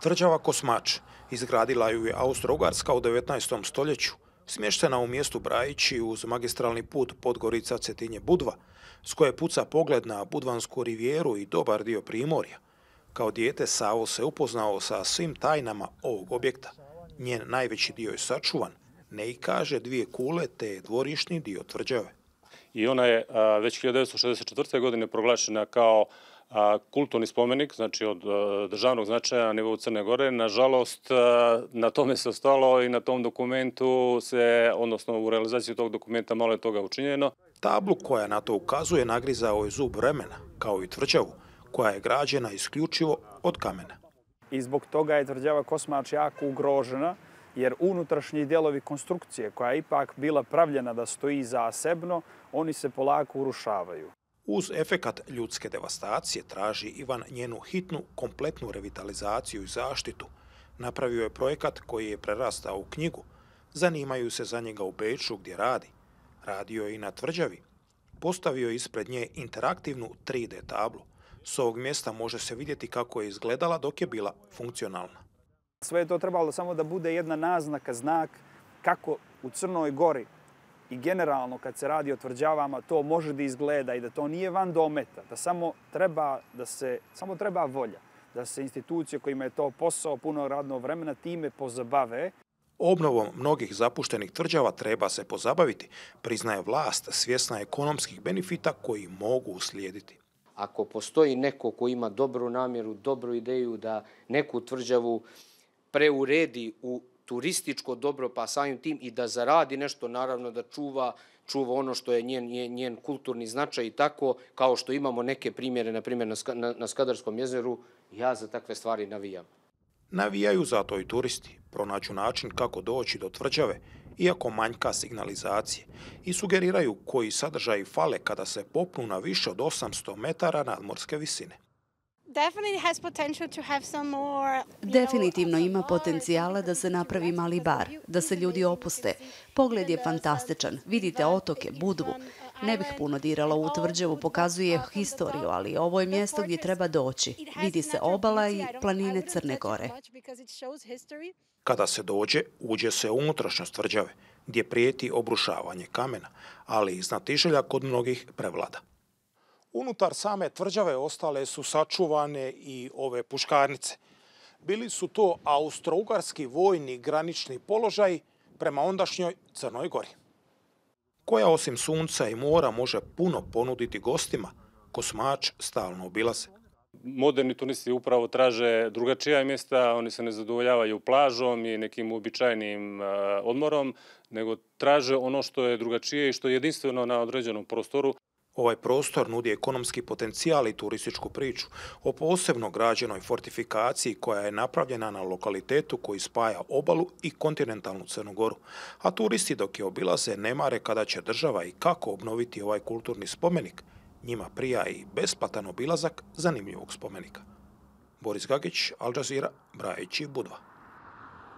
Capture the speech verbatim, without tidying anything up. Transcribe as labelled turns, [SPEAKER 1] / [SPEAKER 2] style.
[SPEAKER 1] Tvrđava Kosmač izgradila ju je Austro-Ugarska u devetnaestom stoljeću, smještena u mjestu Brajići uz magistralni put Podgorica-Cetinje-Budva, s koje puca pogled na Budvansku rivijeru i dobar dio Primorja. Kao dijete Savo se upoznao sa svim tajnama ovog objekta. Njen najveći dio je sačuvan, ne i kaže dvije kule te dvorišni dio tvrđave.
[SPEAKER 2] I ona je a, već hiljadu devetsto šezdeset četvrte. godine proglašena kao a, kulturni spomenik, znači od a, državnog značaja na nivou Crne Gore. Nažalost, a, na tome se ostalo i na tom dokumentu se, odnosno u realizaciji tog dokumenta malo je toga učinjeno.
[SPEAKER 1] Tablu koja na to ukazuje nagrizao je zub vremena, kao i tvrđavu, koja je građena isključivo od kamena.
[SPEAKER 3] I zbog toga je tvrđava Kosmač jako ugrožena, jer unutrašnji dijelovi konstrukcije, koja je ipak bila pravljena da stoji zasebno, oni se polako urušavaju.
[SPEAKER 1] Uz efekat ljudske devastacije traži Ivan njenu hitnu, kompletnu revitalizaciju i zaštitu. Napravio je projekat koji je prerastao u knjigu. Zanimaju se za njega u Beču gdje radi. Radio je i na tvrđavi. Postavio je ispred nje interaktivnu tri D tablu. S ovog mjesta može se vidjeti kako je izgledala dok je bila funkcionalna.
[SPEAKER 3] Sve je to trebalo samo da bude jedna naznaka, znak kako u Crnoj Gori i generalno kad se radi o tvrđavama to može da izgleda i da to nije van dometa, da samo treba, da se, samo treba volja, da se institucije kojima je to posao puno radnog vremena time pozabave.
[SPEAKER 1] Obnovom mnogih zapuštenih tvrđava treba se pozabaviti, priznaje vlast svjesna ekonomskih benefita koji mogu uslijediti.
[SPEAKER 4] Ako postoji neko ko ima dobru namjeru, dobru ideju da neku tvrđavu preuredi u turističko dobro, pa samim tim i da zaradi nešto, naravno da čuva, čuva ono što je njen, njen, njen kulturni značaj i tako, kao što imamo neke primjere, na primjer na, na, na Skadarskom jezeru, ja za takve stvari navijam.
[SPEAKER 1] Navijaju zato i turisti, pronađu način kako doći do tvrđave, iako manjka signalizacije, i sugeriraju koji sadržaji fale kada se popnu na više od osamsto metara nadmorske visine.
[SPEAKER 5] Definitivno ima potencijala da se napravi mali bar, da se ljudi opuste. Pogled je fantastičan, vidite otoke, Budvu. Ne bih puno dirala u tvrđavu, pokazuje historiju, ali ovo je mjesto gdje treba doći. Vidi se obala i planine Crne Gore.
[SPEAKER 1] Kada se dođe, uđe se u unutrašnjost tvrđave, gdje prijeti obrušavanje kamena, ali znatiželja kod mnogih prevlada. Unutar same tvrđave ostale su sačuvane i ove puškarnice. Bili su to austro-ugarski vojni granični položaj prema ondašnjoj Crnoj Gori, koja osim sunca i mora može puno ponuditi gostima. Kosmač stalno obilaze.
[SPEAKER 2] Moderni turisti upravo traže drugačija mjesta, oni se ne zadovoljavaju plažom i nekim uobičajenim uh, odmorom, nego traže ono što je drugačije i što je jedinstveno na određenom prostoru.
[SPEAKER 1] Ovaj prostor nudi ekonomski potencijal i turističku priču o posebno građenoj fortifikaciji koja je napravljena na lokalitetu koji spaja obalu i kontinentalnu Crnu Goru. A turisti dok je obilaze ne mare kada će država i kako obnoviti ovaj kulturni spomenik. Njima prija i besplatan obilazak zanimljivog spomenika. Boris Gagić, Al Jazeera, Brajići, Budva.